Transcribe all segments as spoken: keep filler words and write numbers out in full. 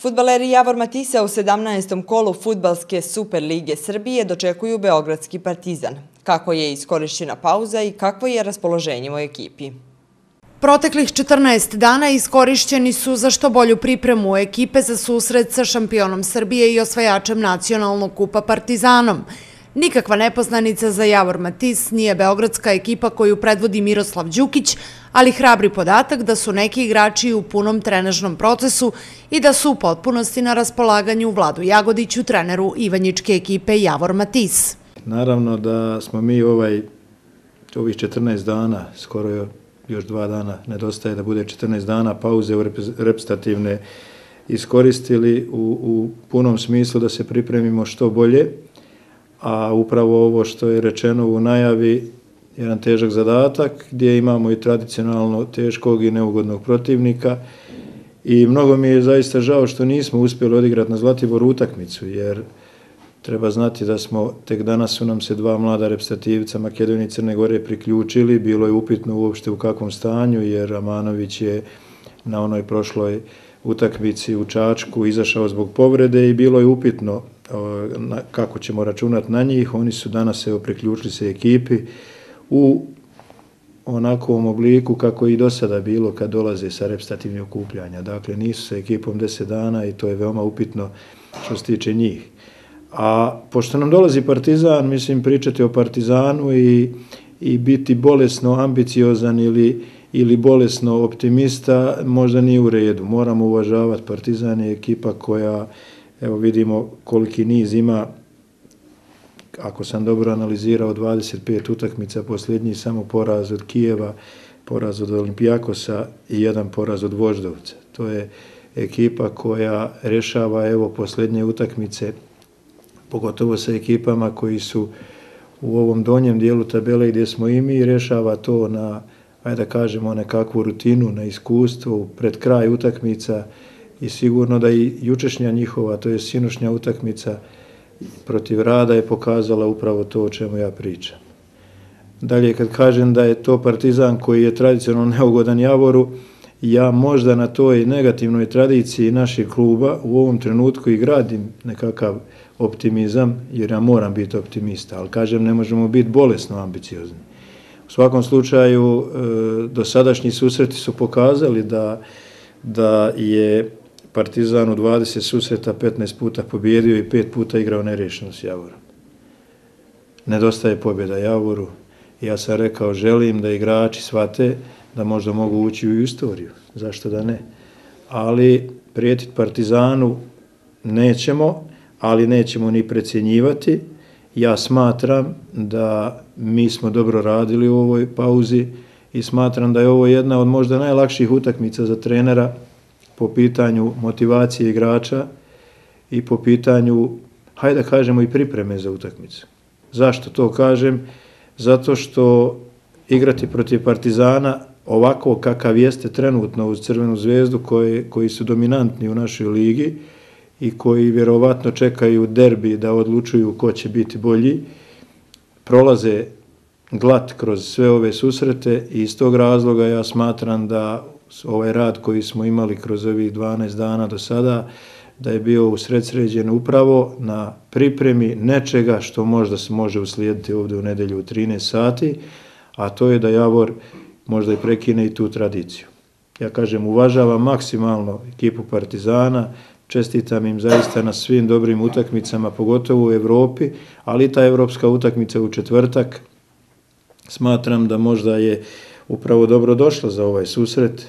Fudbaleri Javor Matisa u sedamnaestom kolu Fudbalske Super lige Srbije dočekuju beogradski Partizan. Kako je iskorišćena pauza i kakvo je raspoloženje u ekipi? Proteklih četrnaest dana iskorišćeni su za što bolju pripremu ekipe za susret sa šampionom Srbije i osvajačem nacionalnog kupa Partizanom. Nikakva nepoznanica za Javor Matis nije beogradska ekipa koju predvodi Miroslav Đukić, ali hrabri podatak da su neki igrači u punom trenažnom procesu i da su u potpunosti na raspolaganju Vladu Jagodiću, treneru ivanjičke ekipe Javor Matis. Naravno da smo mi ovaj, ovih četrnaest dana, skoro još dva dana nedostaje da bude četrnaest dana pauze reprezentativne, iskoristili u, u punom smislu da se pripremimo što bolje, a upravo ovo što je rečeno u najavi, jedan težak zadatak gdje imamo i tradicionalno teškog i neugodnog protivnika i mnogo mi je zaista žao što nismo uspjeli odigrati na Zlatiboru utakmicu, jer treba znati da smo, tek danas su nam se dva mlada reprezentativca Makedonije i Crne Gore priključili, bilo je upitno uopšte u kakvom stanju, jer Amanović je na onoj prošloj utakmici u Čačku izašao zbog povrede i bilo je upitno kako ćemo računati na njih. Oni su danas evo priključili se ekipi u onakvom obliku kako i do sada bilo kad dolaze sa reprezentativnih okupljanja. Dakle, nisu sa ekipom deset dana i to je veoma upitno što se tiče njih. A pošto nam dolazi Partizan, mislim pričati o Partizanu i, i biti bolesno ambiciozan ili, ili bolesno optimista možda nije u redu. Moramo uvažavati Partizan je ekipa koja, evo vidimo koliki niz ima, ako sam dobro analizirao, dvadeset pet utakmica, posljednji samo poraz od Kijeva, poraz od Olimpijakosa i jedan poraz od Voždovca. To je ekipa koja rješava evo posljednje utakmice, pogotovo sa ekipama koji su u ovom donjem dijelu tabele gdje smo i mi, rješava to na, ajde da kažemo, nekakvu rutinu, na iskustvo, pred kraj utakmica i sigurno da i jučešnja njihova, to je sinošnja utakmica protiv Rada je pokazala upravo to o čemu ja pričam. Dalje, kad kažem da je to Partizan koji je tradicionalno neugodan Javoru, ja možda na toj negativnoj tradiciji našeg kluba u ovom trenutku i gradim nekakav optimizam, jer ja moram biti optimista, ali kažem ne možemo biti bolesno ambiciozni. U svakom slučaju, dosadašnji susreti su pokazali da, da je Partizan u dvadeset susreta petnaest puta pobjedio i pet puta igrao nerješeno s Javorom. Nedostaje pobjeda Javoru. Ja sam rekao, želim da igrači shvate da možda mogu ući u istoriju. Zašto da ne? Ali prijetiti Partizanu nećemo, ali nećemo ni precjenjivati. Ja smatram da mi smo dobro radili u ovoj pauzi i smatram da je ovo jedna od možda najlakših utakmica za trenera po pitanju motivacije igrača i po pitanju, hajde da kažemo, i pripreme za utakmicu. Zašto to kažem? Zato što igrati protiv Partizana ovako kakav jeste trenutno uz Crvenu zvezdu koji, koji su dominantni u našoj ligi i koji vjerovatno čekaju derbi da odlučuju ko će biti bolji, prolaze glat kroz sve ove susrete i iz tog razloga ja smatram da ovaj rad koji smo imali kroz ovih dvanaest dana do sada, da je bio usredsređen upravo na pripremi nečega što možda se može uslijediti ovdje u nedelju u trinaest sati, a to je da Javor možda i prekine i tu tradiciju. Ja kažem, uvažavam maksimalno ekipu Partizana, čestitam im zaista na svim dobrim utakmicama, pogotovo u Evropi, ali i ta evropska utakmica u četvrtak, smatram da možda je upravo dobro došla za ovaj susret,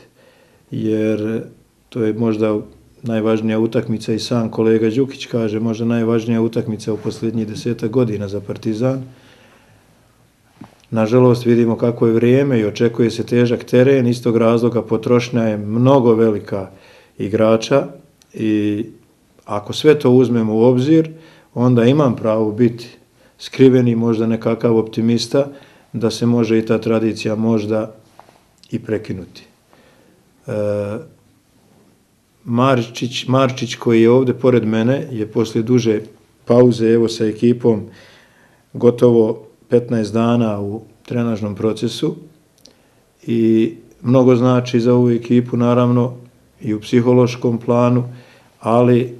jer to je možda najvažnija utakmica i sam kolega Đukić kaže, možda najvažnija utakmica u posljednjih desetak godina za Partizan. Nažalost, vidimo kako je vrijeme i očekuje se težak teren, iz tog razloga potrošnja je mnogo velika igrača i ako sve to uzmemo u obzir, onda imam pravo biti skriveni, možda nekakav optimista, da se može i ta tradicija možda i prekinuti. E, Marčić, Marčić koji je ovdje pored mene je poslije duže pauze evo sa ekipom gotovo petnaest dana u trenažnom procesu i mnogo znači za ovu ekipu naravno i u psihološkom planu, ali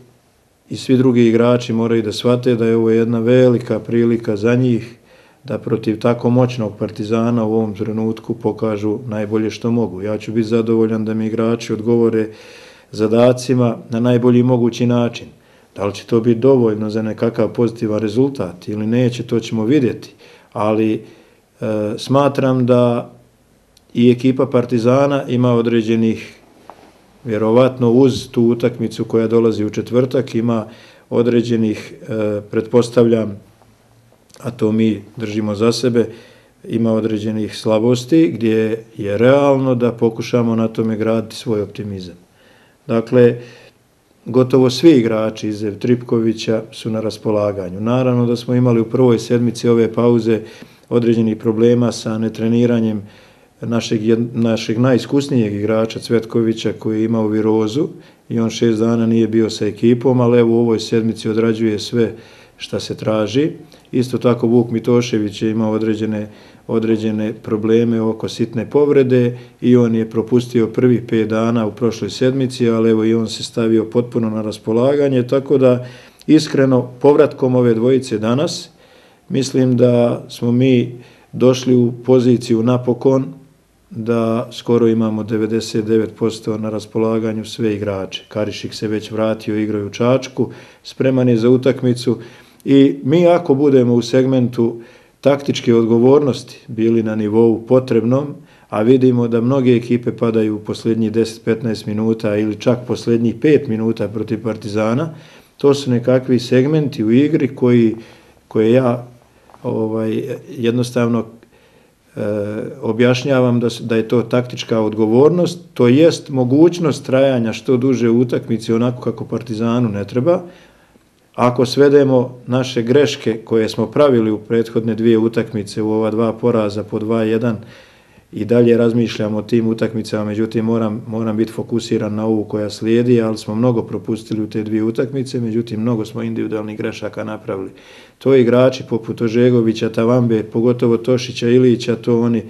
i svi drugi igrači moraju da shvate da je ovo jedna velika prilika za njih da protiv tako moćnog Partizana u ovom trenutku pokažu najbolje što mogu. Ja ću biti zadovoljan da mi igrači odgovore zadacima na najbolji mogući način. Da li će to biti dovoljno za nekakav pozitivan rezultat ili neće, to ćemo vidjeti. Ali e, smatram da i ekipa Partizana ima određenih, vjerovatno uz tu utakmicu koja dolazi u četvrtak, ima određenih, e, pretpostavljam, a to mi držimo za sebe, ima određenih slabosti gdje je realno da pokušamo na tome graditi svoj optimizam. Dakle, gotovo svi igrači izuzev Tripkovića su na raspolaganju. Naravno da smo imali u prvoj sedmici ove pauze određenih problema sa netreniranjem našeg, našeg najiskusnijeg igrača Cvetkovića koji je imao virozu i on šest dana nije bio sa ekipom, ali evo u ovoj sedmici odrađuje sve šta se traži. Isto tako Vuk Mitošević je imao određene, određene probleme oko sitne povrede i on je propustio prvih pet dana u prošloj sedmici, ali evo i on se stavio potpuno na raspolaganje, tako da iskreno povratkom ove dvojice danas mislim da smo mi došli u poziciju napokon da skoro imamo devedeset devet posto na raspolaganju sve igrače. Karišik se već vratio, igraju u Čačku, spreman je za utakmicu i mi ako budemo u segmentu taktičke odgovornosti bili na nivou potrebnom, a vidimo da mnoge ekipe padaju u posljednjih deset do petnaest minuta ili čak posljednjih pet minuta protiv Partizana, to su nekakvi segmenti u igri koji, koje ja ovaj, jednostavno e, objašnjavam da, da je to taktička odgovornost, to jest mogućnost trajanja što duže u utakmici onako kako Partizanu ne treba. Ako svedemo naše greške koje smo pravili u prethodne dvije utakmice u ova dva poraza po dva jedan i dalje razmišljamo o tim utakmicama, međutim moram, moram biti fokusiran na ovu koja slijedi, ali smo mnogo propustili u te dvije utakmice, međutim mnogo smo individualnih grešaka napravili. To igrači poput Ožegovića, Tavambe, pogotovo Tošića, Ilića, to oni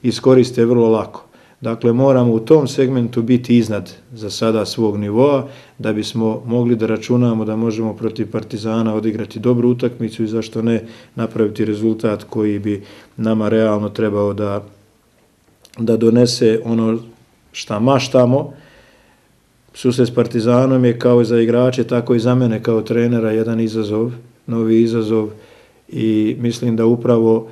iskoriste vrlo lako. Dakle, moramo u tom segmentu biti iznad za sada svog nivoa da bismo mogli da računamo da možemo protiv Partizana odigrati dobru utakmicu i zašto ne napraviti rezultat koji bi nama realno trebao da, da donese ono šta maštamo. Susret s Partizanom je kao za igrače, tako i za mene kao trenera jedan izazov, novi izazov i mislim da upravo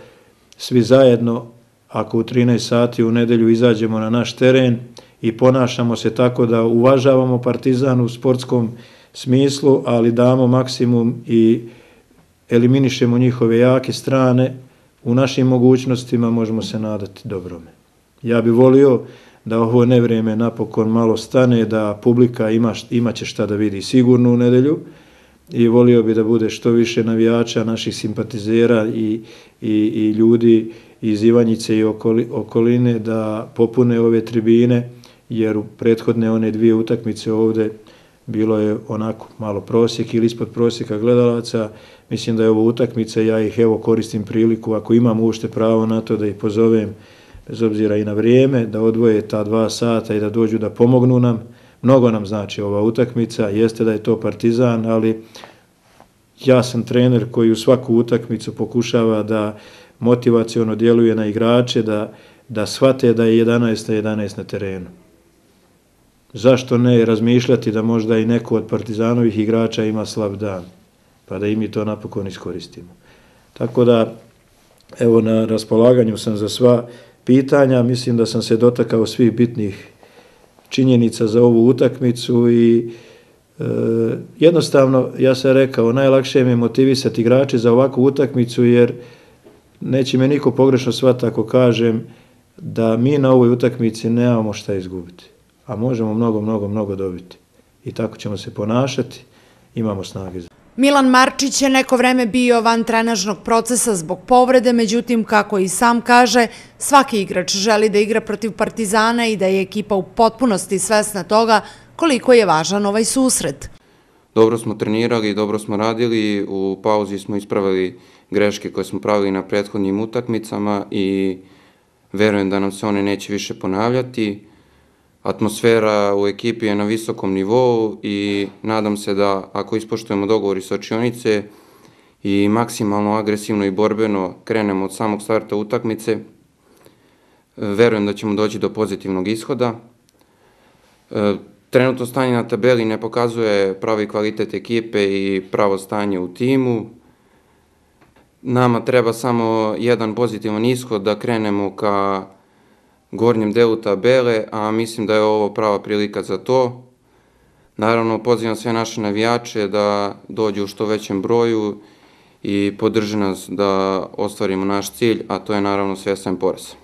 svi zajedno ako u trinaest sati u nedelju izađemo na naš teren i ponašamo se tako da uvažavamo Partizan u sportskom smislu, ali damo maksimum i eliminišemo njihove jake strane, u našim mogućnostima možemo se nadati dobrome. Ja bih volio da ovo nevrijeme napokon malo stane, da publika ima, ima će šta da vidi sigurno u nedelju i volio bi da bude što više navijača, naših simpatizera i, i, i ljudi iz Ivanjice i okoline da popune ove tribine, jer u prethodne one dvije utakmice ovde bilo je onako malo prosjek ili ispod prosjeka gledalaca. Mislim da je ovo utakmica, ja ih evo koristim priliku, ako imam uopšte pravo na to da ih pozovem, bez obzira i na vrijeme, da odvoje ta dva sata i da dođu da pomognu nam. Mnogo nam znači ova utakmica, jeste da je to Partizan, ali ja sam trener koji u svaku utakmicu pokušava da motivaciono djeluje na igrače, da, da shvate da je jedanaest na jedanaest na terenu. Zašto ne razmišljati da možda i neko od Partizanovih igrača ima slab dan, pa da i mi to napokon iskoristimo. Tako da, evo, na raspolaganju sam za sva pitanja, mislim da sam se dotakao svih bitnih činjenica za ovu utakmicu i e, jednostavno, ja sam rekao, najlakše mi je motivisati igrače za ovakvu utakmicu, jer neće me niko pogrešno shvatiti ako kažem da mi na ovoj utakmici nemamo šta izgubiti, a možemo mnogo, mnogo, mnogo dobiti. I tako ćemo se ponašati, imamo snage za. Milan Marčić je neko vreme bio van trenažnog procesa zbog povrede, međutim, kako i sam kaže, svaki igrač želi da igra protiv Partizana i da je ekipa u potpunosti svesna toga koliko je važan ovaj susret. Dobro smo trenirali, dobro smo radili, u pauzi smo ispravili greške koje smo pravili na prethodnim utakmicama i verujem da nam se one neće više ponavljati. Atmosfera u ekipi je na visokom nivou i nadam se da ako ispoštujemo dogovor iz slačionice i maksimalno agresivno i borbeno krenemo od samog starta utakmice, verujem da ćemo doći do pozitivnog ishoda. Trenutno stanje na tabeli ne pokazuje pravi kvalitet ekipe i pravo stanje u timu. Nama treba samo jedan pozitivan ishod da krenemo ka gornjem delu tabele, a mislim da je ovo prava prilika za to. Naravno, pozivam sve naše navijače da dođu u što većem broju i podrže nas da ostvarimo naš cilj, a to je naravno svestan poraz.